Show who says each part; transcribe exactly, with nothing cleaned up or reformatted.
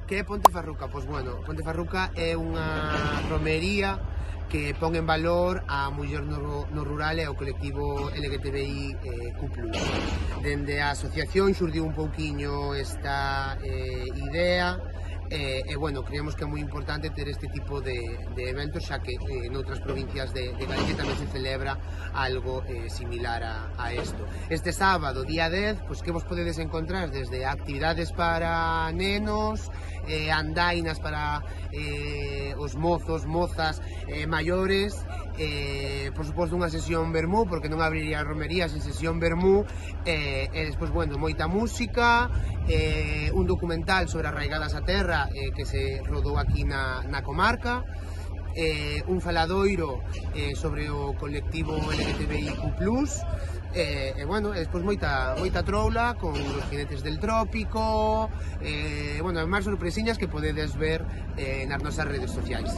Speaker 1: Que é Pontefarruca? Pois bueno, Pontefarruca é unha romería que pon en valor a muller no, no rural e ao colectivo L G T B I eh, Q plus. Dende a asociación xurdiu un pouquiño esta eh, idea e, e bueno, creemos que é moi importante ter este tipo de, de eventos, xa que eh, noutras provincias de, de Galicia tamén se celebra algo eh, similar a, a esto. Este sábado, día dez, pues, que vos podedes encontrar desde actividades para nenos, eh, andainas para eh, os mozos, mozas, eh, maiores, eh, por suposto unha sesión vermú, porque non abriría a romería sen sesión vermú, eh, e despois, bueno, moita música, eh, un documental sobre arraigadas a terra eh, que se rodou aquí na, na comarca, eh, un faladoiro eh, sobre o colectivo L G T B I Q plus, e, e bueno, despois moita, moita troula con os jinetes del trópico, e, bueno, máis sorpresiñas que podedes ver eh, nas nosas redes sociais.